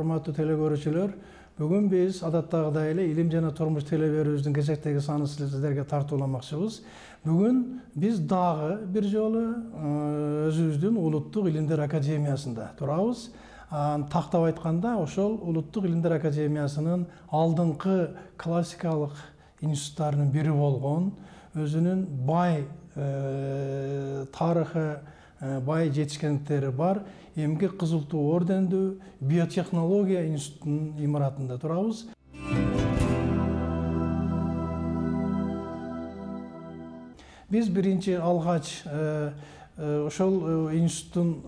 урматтуу телекөрүүчүлөр, бүгүн биз адаттагыдай эле илим жана турмуш теле берүүбүздүн кезектеги санын сиздерге тартууламакчыбыз. Бүгүн биз дагы бир жолу өзүбүздүн улуттук илимдер академиясында турабыз. Тактап айтканда, ошол улуттук илимдер академиясынын алдыңкы классикалык институттарынын бири болгон, өзүнүн бай тарыхы, бай жетишкендиктери бар эмгек кызыл туу ордендүү биотехнология институтунун имаратында турабыз. Биз биринчи алгач ошол институттун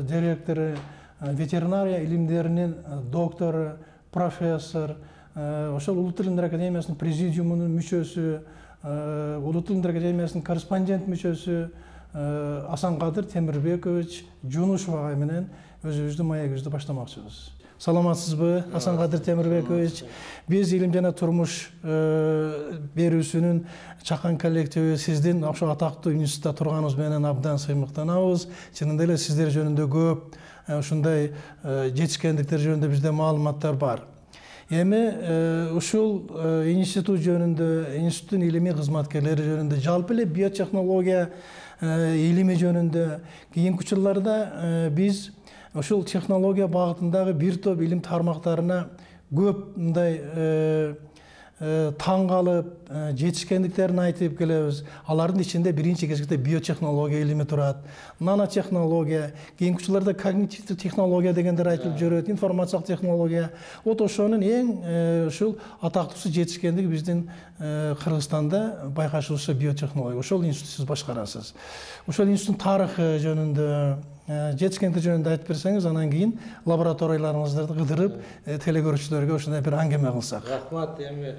директору, ветеринария илимдеринин доктору, профессор, ошол улуттук илимдер академиясынын президиумунун мүчөсү, улуттук илимдер академиясынын корреспондент мүчөсү Асанкадыр Темирбекович Жунушев агай менен өзүбүздүн маегибизди баштамакчыбыз. Саламатсызбы, Асанкадыр Темирбекович? Биз илим жана турмуш берүүсүнүн чакан коллективи сиздин ошо атактуу институтта турганыңыз менен абдан сыймыктанабыз. Чынында эле сиздер жөнүндө көп ушундай жетишкендиктер жөнүндө бизде маалыматтар бар. Эми ушул институт жөнүндө, институттун илимий кызматкерлери жөнүндө, жалпы эле биотехнология илими жөнүндө кийинки учурларда биз ушул технология багытындагы бир топ илим тармактарына көп мындай таң калып, жетишкендиктерин айтып келебиз. Алардын ичинде биринчи кезекте биотехнология илими турат, нанотехнология, кийинки учурларда когнитивдик технология дегендер айтылып жүрөт, информациялык технология. Вот ошонун эң ушул атактуусу жетишкендиги биздин Кыргызстанда байкашуучу биотехнология. Ошол институтты сиз башкарасыз. Ошол институттун тарыхы жөнүндө, жетишкендик жөнүндө айтып берсеңиз, анан кийин лабораторияларыңыздарды кыдырып, телекөрүүчүлөргө ушундай бир аңгеме кылсак. Рахмат. Эми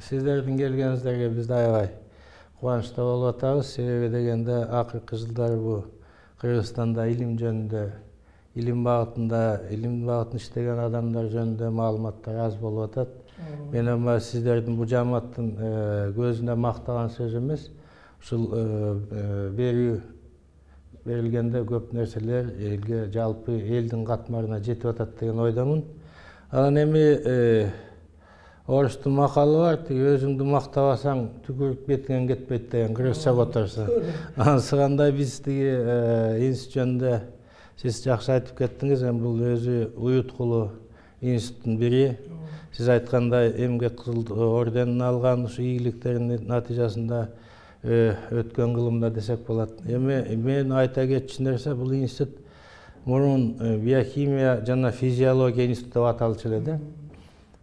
сиздердин келгениңиздерге биз аябай кубанычта болуп атабыз. Себеби дегенде акыркы жылдары бу Кыргызстанда илим жөнүндө, илим багытында иштеген адамдар жөнүндө маалыматтар аз болуп атат. Мен эми сиздердин бу жамааттын көзүнө мактаган сөз эмес. Ушул берилгенде көп нерселер элге, жалпы элдин катмарына жетип атат деген ойдомун. Анан эми орустун макалы бар, өзүңдү мактабасаң түкүрүк бетиңен кетпейт деген, кыргызча которсо. Анысыгандай биз тиги институт жөнүндө сиз жакшы айтып кеттиңиз. Эми бул өзү уюткулуу институттун бири. Сиз айткандай эмгек кызыл орденин алган, ушу ийгиликтеринин натыйжасында өткөн кылымда десек болот. Эми мен айта кетчү нерсе, бул институт мурун биохимия жана физиология институту деп аталчу эле да.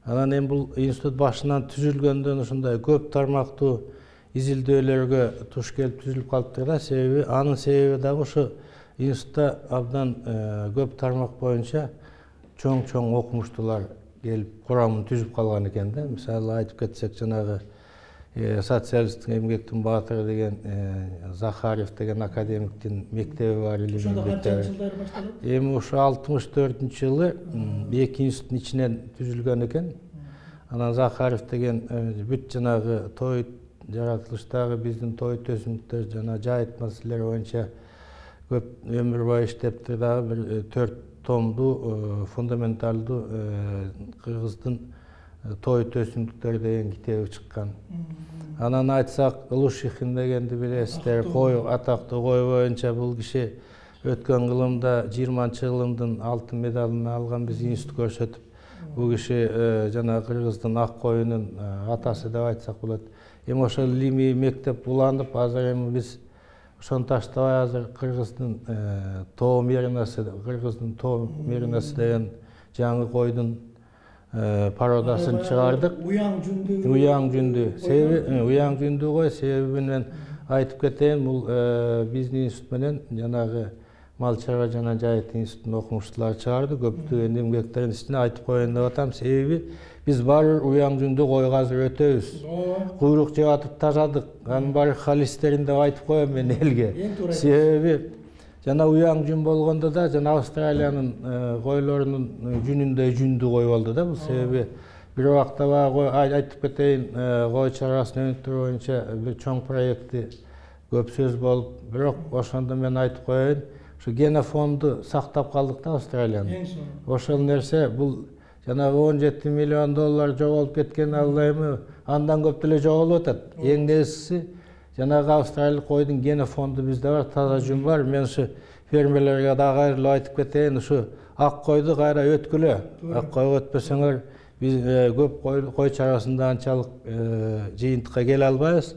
Анан эми бул институт башынан түзүлгөндөн ушундай көп тармактуу изилдөөлөргө туш келип түзүлүп калыптыр да. Себеби анын себеби дагы ушу институтта абдан көп тармак боюнча чоң окумуштуулар келип курамын түзүп калган экен да. Мисалы айтып кетсек, жанагы социалисттик эмгектин баатыры деген Захаров деген академиктин мектеби бар, илимий мектеби. Эми ушу 64-жылы эки институттун ичинен түзүлгөн экен. Анан Захаров деген бүт жанагы той жаратылыштагы биздин той төзүмдүктөр жана жайыт маселелери боюнча көп өмүр бою иштептир. Дагы бир 4 томдуу фундаменталдуу Кыргыздын той төзүмдүктөр деген китеби чыккан. Анан айтсак, Лушихин дегенди билесиздер, атактуу кой боюнча бул киши өткөн кылымда 20-кылымдын алтын медалын алган биз институт көрсөтүп. Бул киши жана Кыргыздын ак коюнун атасы деп айтсак болот. Эми ошол илимий мектеп уланып, азыр эми биз ошону таштабай азыр Кыргыздын тоо меринасы деген жаңы койдун пародасын чыгардык. Уяң жүндүү. Себеби уяң жүндүү кой, себебин айтып кетейин. Бул биздин институт менен жанагы мал чарба жана жайыт институтунун окумуштуулары чыгарды. Көптөгөн эмгектердин ичине айтып коеюн деп атам. Себеби биз баары уяң жүндүү койго азыр өтөбүз. Куйрук жеп атып тажадык. Анын баары холестерин деп айтып коем мен элге. Себеби жана уяң жүн болгондо да жана Австралиянын койлорунун жүнүндөй жүндүү кой болду да. Бул себеби бир убакта айтып кетейин, кой чарбасын өнүктүрүү боюнча бир чоң проекти көп сөз болуп, бирок ошондо мен айтып коеюн, ушу генофонду сактап калдык да Австралиянын. Ошол нерсе бул жанагы 17 миллион доллар жоголуп кеткен алла эми андан көп деле жоголуп атат. Эң негизгиси жанагы австралиялык койдун генофонду бизде бар, таза жүн бар. Мен ушу фермерлерге дагы кайрылып айтып кетейин, ушу ак койду кайра өткүлө. Ак койго өтпөсөңөр биз көп кой чарбасында анчалык жыйынтыкка келе албайбыз.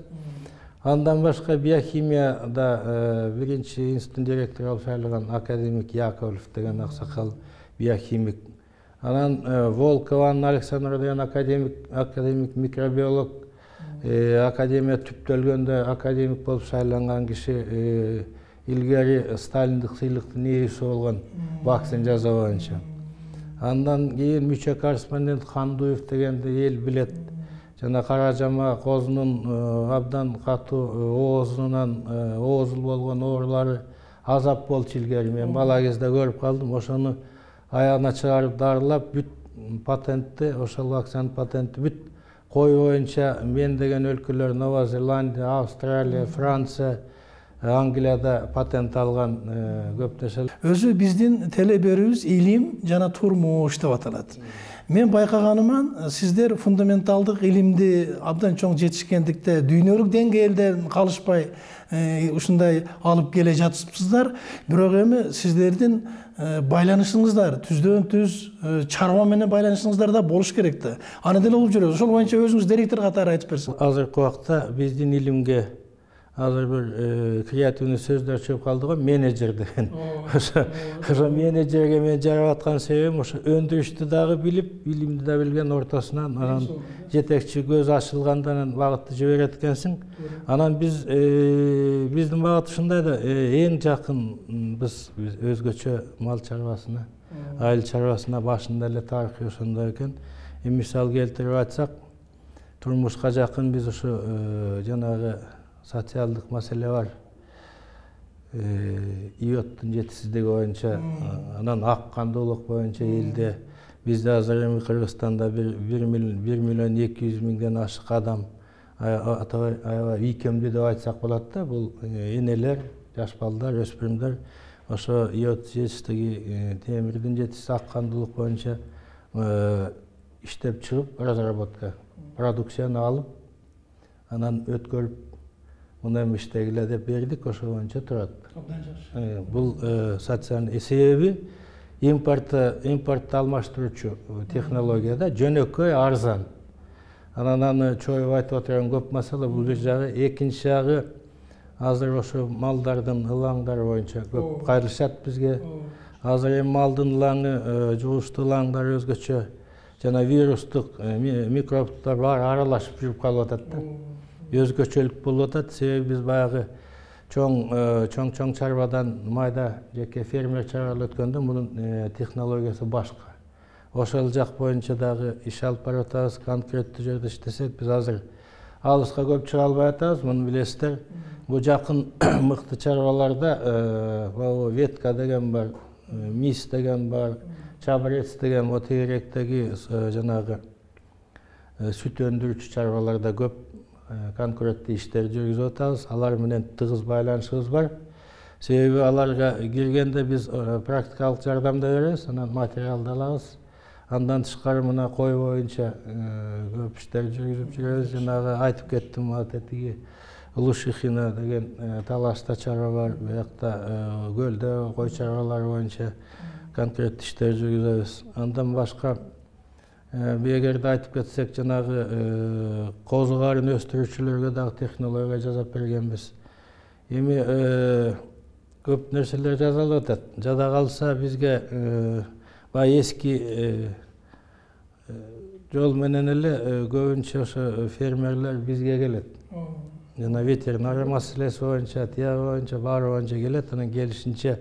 Андан башка биохимияда биринчи институттун директору болуп шайланган академик Яковлев деген аксакал биохимик. Анан Волкова Анна Александровна деген академик микробиолог, академия түптөлгөндө академик болуп шайланган киши, илгери Сталиндик сыйлыктын ээси болгон вакцин жасоо боюнча. Андан кийин мүчө корреспондент Хандуев дегенди эл билет. Жана кара жама козунун абдан катуу оозунан оозул болгон оорулары азап болчу илгери. Мен бала кезде көрүп калдым. Ошону аягына чыгарып дарылап бүт патентти, ошол вакцинанын патенти бүт кой боюнча мен деген өлкөлөр Нова Зеландия, Австралия, Франция, Англияда патент алган көп нерселер. Өзү биздин теле берүүбүз илим жана турмуш деп аталат. Мен байкаганыман сиздер фундаменталдык илимди абдан чоң жетишкендикте дүйнөлүк деңгээлден калышпай ушундай алып келе жатыпсыздар. Бирок эми сиздердин байланышыңыздар түздөн түз чарба менен байланышыңыздар да болуш керек да. Аны деле угуп жүрөбүз. Ошол боюнча өзүңүз директор катары айтып берсеңиз. Азыркы убакта биздин илимге азыр бир креативный сөздөр чыгып калды го, менеджер деген. Ошо менеджерге мен жарап аткан себебим ошо өндүрүштү дагы билип, илимди да билген ортосунан анан жетекчи көз ачылгандан багытты жиберет экенсиң. Анан биздин багыт ушундай да, эң жакын биз өзгөчө мал чарбасына, айыл чарбасына башында эле тарыхы ошондой экен. Мисал келтирип айтсак, турмушка жакын биз ушу жанагы социалдык маселе бар. Иоттун жетишсиздиги боюнча, анан ак кандуулук боюнча элде бизде азыр эми Кыргызстанда 1 миллион 200 миңден ашык адам аябай ийкемдүү деп айтсак болот да. Бул энелер, жаш балдар, өспүрүмдөр ошо иот жетишсиздиги, темирдин жетишсиздиги, ак кандуулук боюнча иштеп чыгып, разработка, продукцияны алып, анан өткөрүп муну эми иштегиле деп бердик, ошол боюнча турат. Бул социальный себеби импортто алмаштыруучу технологияда жөнөкөй, арзан. Анан аны чоюп айтып отурган көп маселе бул бир жагы. Экинчи жагы азыр ошо малдардын ылаңдары боюнча көп кайрылышат бизге. Азыр эми малдын ылаңы, жугуштуу ылаңдар өзгөчө жана вирустук микробтор бар аралашып жүрүп калып атат да. Өзгөчөлүк болуп атат. Себеби биз баягы чоң чарбадан майда жеке фермер чарбага өткөндө мунун технологиясы башка. Ошол жак боюнча дагы иш алып барып атабыз. Конкреттүү жерде иштесек, биз азыр алыска көп чыга албай атабыз, муну билесиздер. Бул жакын мыкты чарбаларда ветка деген бар, мис деген бар, чабрец деген, тегеректеги жанагы сүт өндүрүүчү чарбаларда көп конкуренттүү иштер жүргүзүп атабыз. Алар менен тыгыз байланышыбыз бар. Себеби аларга киргенде биз практикалык жардам да беребиз, анан материалды алабыз. Андан тышкары мына кой боюнча көп иштер жүргүзүп жүрөбүз. Жанагы айтып кеттим, атетиги Улушихина деген талашта чарба бар. Буякта көлдө кой чарбалары боюнча конкреттүү иштер жүргүзөбүз. Андан башка эгерде айтып кетсек, жанагы козу карын өстүрүүчүлөргө дагы технология жасап бергенбиз. Эми көп нерселер жасалып атат. Жада калса бизге бай эски жол менен эле көбүнчө ошо фермерлер бизге келет. Жана ветеринария маселеси боюнча, тияк боюнча, баары боюнча келет. Анан келишинче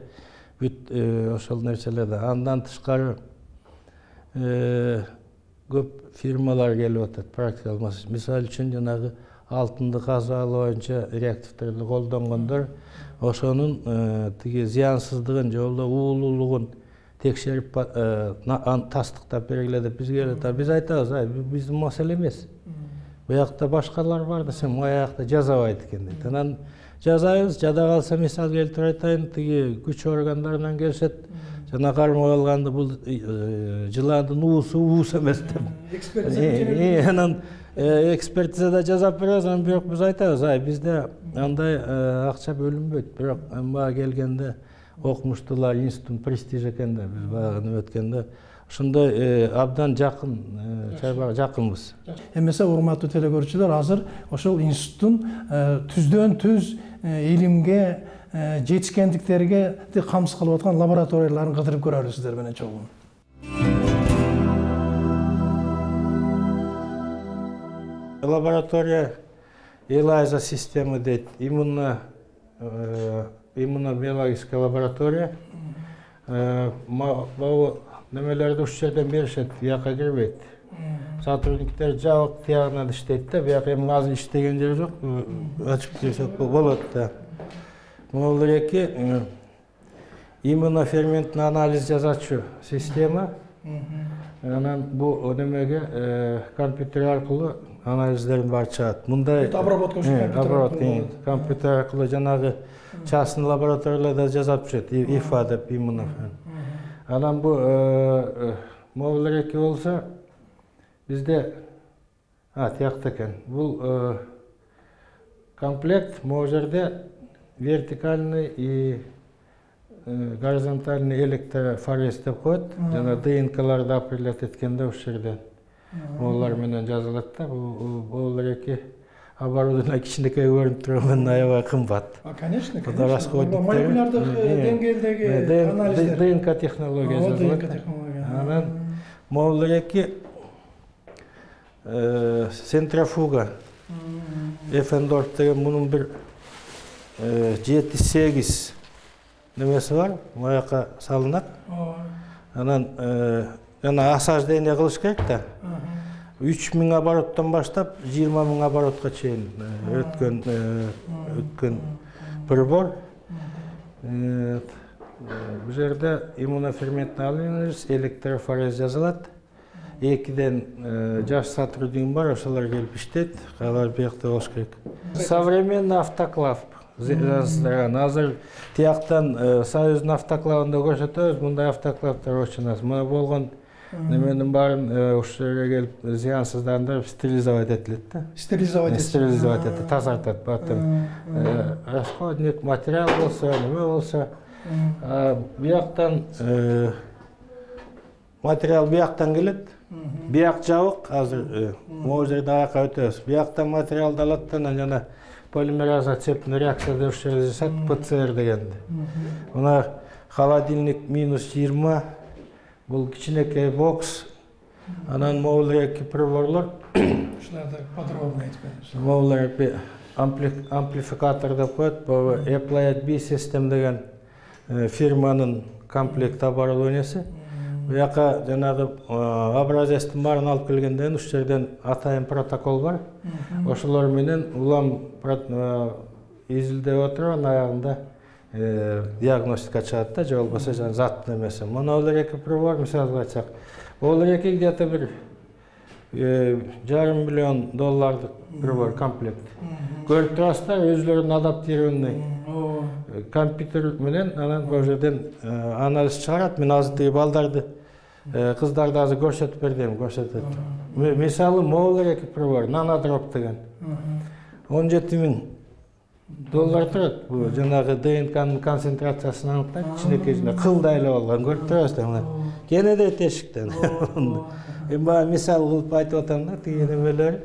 бүт ошол нерселерде. Андан тышкары көп фирмалар келип атат, практикалык маселе. Мисалы үчүн жанагы алтынды казып алуу боюнча реакторду колдонгондор ошонун тиги зыянсыздыгын же болбосо уулуулугун текшерип тастыктап бергиле деп бизге келет. Биз айтабыз, биздин маселе эмес. Буякта башкалар бар да, сен аякта жазабайт экен дейт. Анан жазабыз, жада калса мисал келтирип айтайын, тиги күч органдарынан келишет. жана кармап алганда бул жыландын уусу уус эмес деп. Анан экспертизада жасап беребиз, анан бирок биз айтабыз, бизде андай акча бөлүнбөйт. Бирок мага келгенде окумуштуулар институттун престижи экен да, биз баягы өткөндө ошондой абдан жакын, жакынбыз. Эмесе урматтуу телекөрүүчүлөр, азыр ошол институттун түздөн түз илимге, жетишкендиктерге камсыз кылып аткан лабораторияларын кыдырып көрөлү сиздер менен чогуу. Лаборатория ELISA система дейт, иммунобиологическая лаборатория. Бул немелерди ушул жерден беришет, бияка кирбейт. Сотрудниктер жабык тиягынан иштейт да, бияка эми азыр иштеген жери жок, ачып кирсек болот да. Могул эки иммуноферменттин анализ жасачу система. Анан бул немеге компьютер аркылуу анализдерин баары чыгат. Мындай обработка компьютер аркылуу жанагы частный лабораторияларда жасап жүрөт, ИФА деп иммунофермент. Анан бу могул эки болсо бизде тиякта экен. Бул комплект могул жерде вертикальный и горизонтальный электрофорез деп коет. Жана ДНКларды определять эткенде ушул жерден могулар менен жазылат да. Бул эки оборудование кичинекей көрүнүп турган аябай кымбат. Конечно, молекулярдык деңгээлдеги анализдер. ДНК технология жазылат. Анан могул эки центрофуга Эффендорф деген мунун бир 7-8 немеси бар, маяка салынат. Анан жана осаждение кылыш керек да. 3000 обороттон баштап 20 000 оборотко чейин өткөн прибор. Бул жерде иммуноферментти алып, электрофорез жазылат. 2ден жаш сотрудник бар, ошолор келип иштейт, алар биякта болуш керек. Современный автоклав жаздырган. Азыр тияктан Союздун автоклавында көрсөтөбүз, мындай автоклавдар очень аз. Мына болгон неменин баарын ушул жерге келип зыянсыздандырып стерилизовать этилет да. Стерилизовать этип тазартат. Потом расходник материал болсо, неме болсо, бияктан материал бияктан келет. Бияк жабык, азыр могул жерде аяка өтөбүз. Бияктан материалды алат да, жана полимераза цепный реакция деп ушул жерде жасат, ПЦР дегенди. Мына холодильник -20, бул кичинекей бокс. Анан могул эки приборлор. Ушуларды подробно айтып Могул эки амплификатор деп коет. Бул Applied B System деген фирманын комплект оборудованиясы. Буяка жанагы образецтин баарын алып келгенден ушул жерден атайын протокол бар. Ошолор менен улам изилдеп отуруп, аягында диагностика чыгат да, же болбосо заттын эмеси. Мына улар эки прибор, мисалы айтсак, улар эки где-то бир $500 миллион прибор комплект. Көрүп турасыздар, өзүлөрүнүн адаптированный компьютер менен анан бул жерден анализ чыгарат. Мен азыр балдарды, кыздарды азыр көрсөтүп бердим, көрсөтөт. Мисалы могул эки прибор, нанодроп деген. $17 000 турат. Бул жанагы ДНКнын концентрациясын аныктайт, кичинекей кылдай эле болгон. Көрүп турасыздар мына. Кенеде тешиктен. Эми мисал кылып айтып атам да, тиги немелер.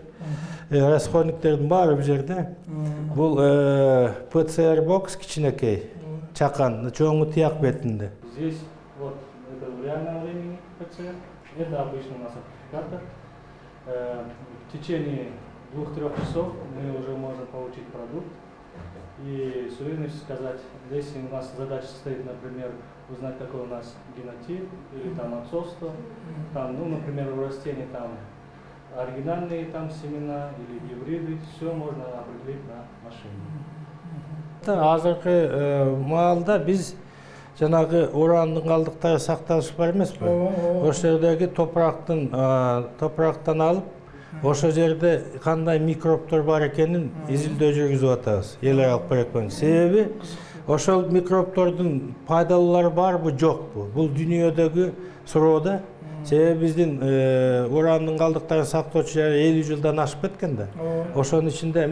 Расходниктердин баары бул жерде. Бул ПЦР бокс кичинекей, чакан, чоңу тияк бетинде. Здесь вот это в реальном времени ПЦР, это обычный у нас сертификатор. В течение 2-3 часов мы уже можем получить продукт и с уверенностью сказать, если у нас задача стоит, например, узнать, какой у нас генотип или там отцовство, там, ну, например, у растений там оригинальные там семена или гибриды, все можно определить на машине. Азыркы маалда биз жанагы урандын калдыктары сакталышы бар эмеспи? Ошол жердеги топурактан алып, ошол жерде кандай микробдор бар экенин изилдөө жүргүзүп атабыз. Эл аралык проектпен. Себеби ошол микробтордун пайдалуулары барбы жокпу? Бул дүйнөдөгү суроо да. Себеби биздин урандын калдыктарын сактоочу жери 50 жылдан ашып кеткен да. Ошонун ичинде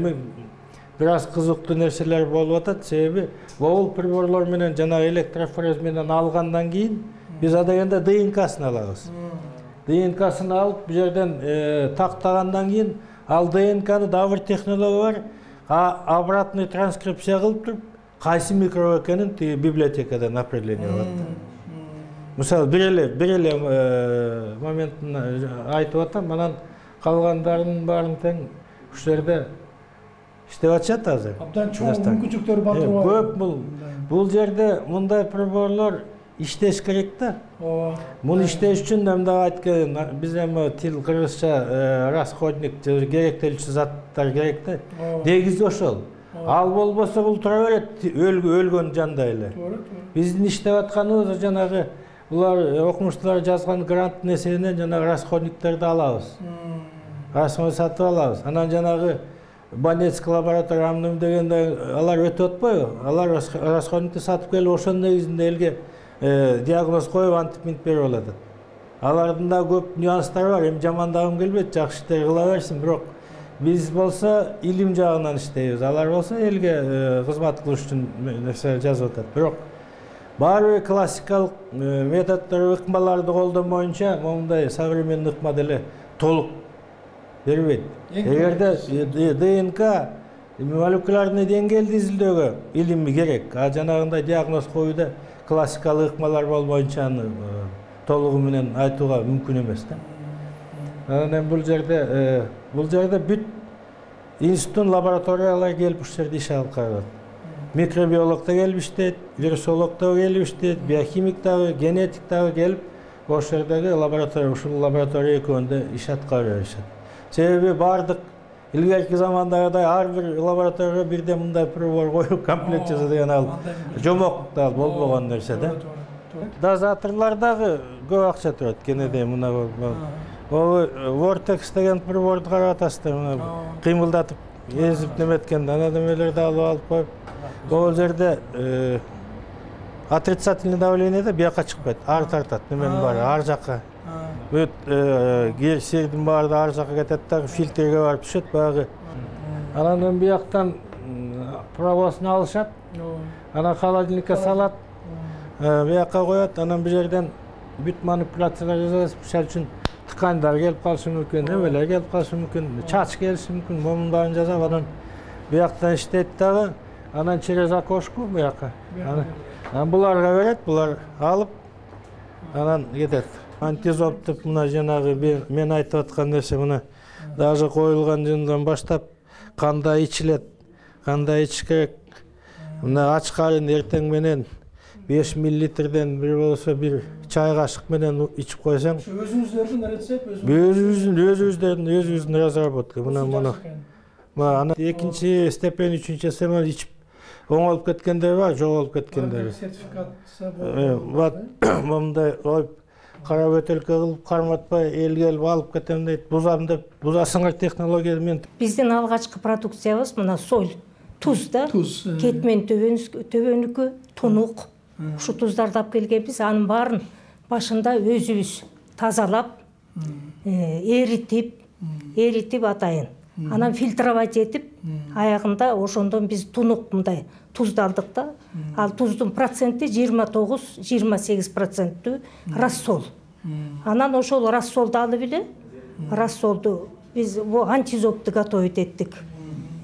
бир аз кызыктуу нерселер болуп атат. Себеби бул приборлор менен жана электрофорез менен алгандан кийин биз адегенде ДНК-сын алабыз. ДНК-сын алып бу жерден тактагандан кийин ал ДНК-ны дагы бир технология бар. Обратный транскрипция кылып туруп, кайсы микроб экенин тиги библиотекадан определение кылат. Мисалы бир эле моментин айтып атам, анан калгандарынын баарын тең ушул жерде иштеп атышат азыр. Абдан чоң мүмкүнчүлүктөр бар. Көп бул жерде мындай приборлор иштеш керек да. Муну иштеш үчүн мында айткан биз эми тил кыргызча расходник керектелүүчү заттар керек да. Негизи ошол. Ал болбосо бул тура берет өлгөн жандай эле. Биздин иштеп атканыбыз жанагы булар окумуштуулар жазган гранттын эсебинен жанагы расходниктерди алабыз. Расход сатып алабыз. Анан жанагы Банецкий лаборатория дегенде алар өтүп атпайбы? Алар расходникти сатып келип ошонун негизинде элге диагноз коюп антип берип алат. Алардын да көп нюанстары бар. Эми жамандагым келбейт, жакшы иштер кыла берсин, бирок биз болсо илим жагынан иштейбиз. Алар болсо элге кызмат кылыш үчүн нерселер жазып атат. Бирок баары бир классикалык методдор, ыкмаларды колдонбоюнча мондай современный ыкма деле толук бербейт. Эгерде ДНК молекулярный деңгээлди изилдөөгө илими керек, а жанагындай диагноз коюуда классикалык ыкмалар болбоюнча аны толугу менен айтууга мүмкүн эмес да. Анан бул жерде бүт институттун лабораториялары келип ушул жерде иш алып каралат. Микробиолог да келип иштейт, вирусолог да келип иштейт, биохимик дагы, генетик дагы келип ошол жердеги лаборатория, ушул лаборатория экөөндө иш аткарып беришет. Себеби бардык илгерки замандагыдай ар бир лабораторияга бирден мындай прибор коюп комплект жаса деген ал жомок да болбогон нерсе да. Дозаторлор дагы көп акча турат. Кенеде мына Vortex деген приборду карап атасыздар, мына кыймылдатып эзип неметкен ана немелерди алып коюп. Бул жерде отрицательный давлениеде бияка чыкпайт, ары тартат, неменин баары ар жакка. Бүт сирдин баары ар жакка кетет да, фильтрге барып түшөт багы. Анан бияктан пробасын алышат. Анан холодильникке салат. Бияка коет, анан бу жерден бүт манипуляциялар жасайбыз. Мисалы үчүн ткандар келип калышы мүмкүн, немелер келип калышы мүмкүн, чач келиши мүмкүн, момун баарын жасап анан бияктан иштейт дагы. Анан через окошку бияка. Анан буларга берет, булар алып анан кетет. Антизоп деп мына жанагы мен айтып аткан нерсе мына даже коюлган жындан баштап кандай ичилет, кандай ичиш керек. Мына ач карын эртең менен 5 миллилитрден бир болсо бир чай кашык менен ичип койсоң. Өзүңүздөрдүн рецепт, өзүбүздүн разработка. Мына ана экинчи степень, үчүнчү степень ичип оңолуп кеткендер бар, жоголуп кеткендер. Сертификация болду. Мындай коюп кара бөтөлкө кылып карматпай эл келип алып кетем дейт. Бузам деп бузасыңар технология менен. Биздин алгачкы продукциябыз мына соль, туз да. Кетмен төбөнүкү, тунук. Ушу туздарды алып келгенбиз, анын баарын башында өзүбүз тазалап, эритип атайын. Анан фильтровать этип, аягында ошондон биз тунук мындай тузду алдык да. Ал туздун проценти 29-28% рассол. Анан ошол рассолду алып эле, рассолду биз антизопту готовить эттик.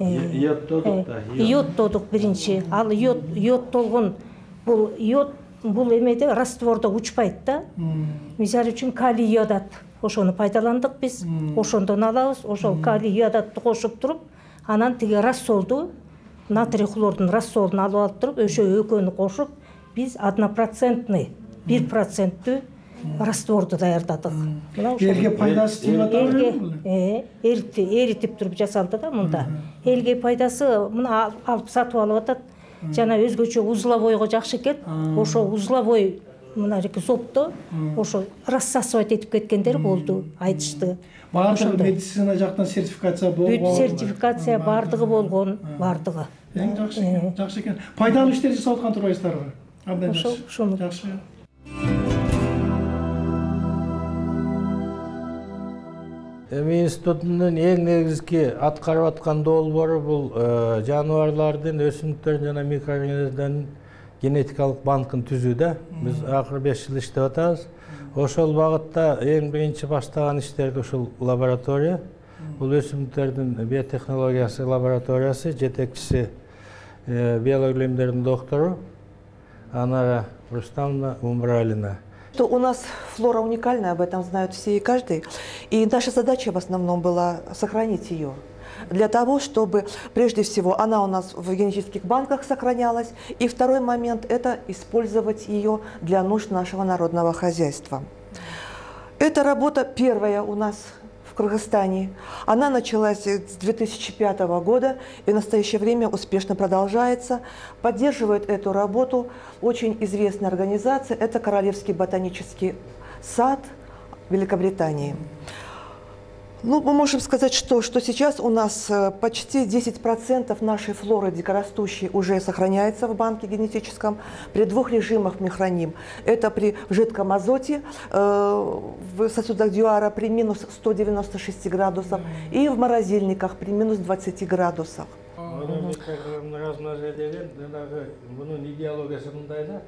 Йодтодук да. Йодтодук биринчи. Ал йодтолгон бул эмеде раствордо учпайт да. Мисалы үчүн калий йодат. Ошону пайдаландык биз. Ошондон алабыз. Ошол калий йодатты кошуп туруп, анан тиги рассолду, натрий хлордун рассолун алып туруп, ошо экөөнү кошуп, биз 1% растворду даярдадык. Элге пайдасы тип атат. Эритип туруп жасалды да мында. Элге пайдасы мына алып сатып алып атат. Жана өзгөчө узловойго жакшы экен. Ошо узловой мына зопто ошо рассасывать этип кеткендер болду, айтышты. Баардыгы медицина жактан сертификация болгон. Бүт сертификация бардыгы болгон, бардыгы. Эң жакшы экен. Пайдалуу иштер жасап аткан турбайсыздарбы? Абдан жакшы. Ошону Жакшы. Эми институттун эң негизги аткарып аткан долбоору бул жаныбарлардын, өсүмдүктөрдүн жана микроорганизмдердин генетикалык банкын түзүү да. Биз акыркы 5 жыл иштеп атабыз. Ошол багытта эң биринчи баштаган иштерди ушул лаборатория. Бул өсүмдүктөрдүн биотехнологиясы лабораториясы, жетекчиси биология илимдеринин доктору Анара Рустамовна Умбралина. У нас флора уникальная, об этом знают все и каждый. И наша задача в основном была сохранить ее. Для того, чтобы, прежде всего, она у нас в генетических банках сохранялась. И второй момент – это использовать ее для нужд нашего народного хозяйства. Эта работа первая у нас в Кыргызстане. Она началась с 2005 года и в настоящее время успешно продолжается. Поддерживает эту работу очень известная организация. Это Королевский ботанический сад Великобритании. Ну, мы можем сказать, что сейчас у нас почти 10% нашей флоры дикорастущей уже сохраняется в банке генетическом при 2 режимах мы храним. Это при жидком азоте в сосудах Дюара при минус 196 градусов и в морозильниках при минус 20 градусах. Bunun ideologiyasi mындай да.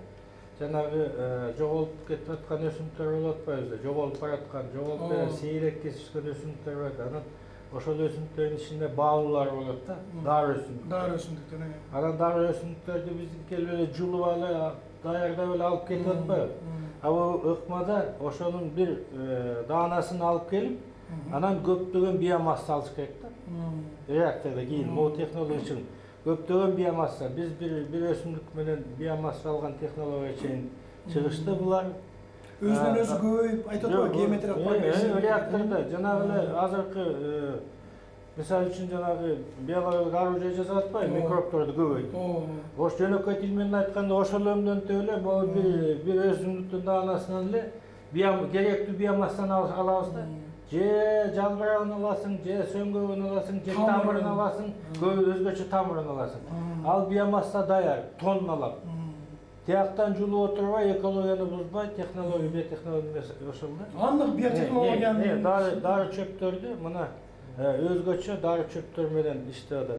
Жанагы жоголуп кетип аткан өсүмдүктөр болуп атпайбызбы? Жоголуп бараткан, жоголуп сейрек kesишкен өсүмдүктөр бар. Анан ошол өсүмдүктөрдүн ичинде баалуулар болот да. Дары өсүмдүктөр. Дары өсүмдүктөр. Анан дары өсүмдүктөрдү биздин келип эле жулуп алып, даярдап эле алып кетип атпайбы? А бул ыкмада ошонун бир даанасын алып келип, анан көптөгөн биомасса алыш керек да. Реакторда кийин могу технология үчүн көптөгөн биомасса, биз бир өсүмдүк менен биомасса алган технология чейин чыгышты булар. Өзүнөн өзү көбөйүп, айтат го, геометриялык прогрессия. Реакторда жанагы эле азыркы мисалы үчүн жанагы биологиялык оружие жасап атпайбы, микробторду көбөйтүп. Ош жөнөкөй тил менен айтканда ошол өмдөнтүп эле могу бир өсүмдүктүн даанасынан эле керектүү биомассаны алабыз да. Же жалбырагын аласың, же сөңгөгүн аласың, же тамырын аласың, өзгөчө тамырын аласың. Ал биомасса даяр, тонналап. Тияктан жулуп отурбай, экологияны бузбай, технология, биотехнология ошол да. Андык биотехнологияны дары чөптөрдү мына өзгөчө дары чөптөр менен иштеп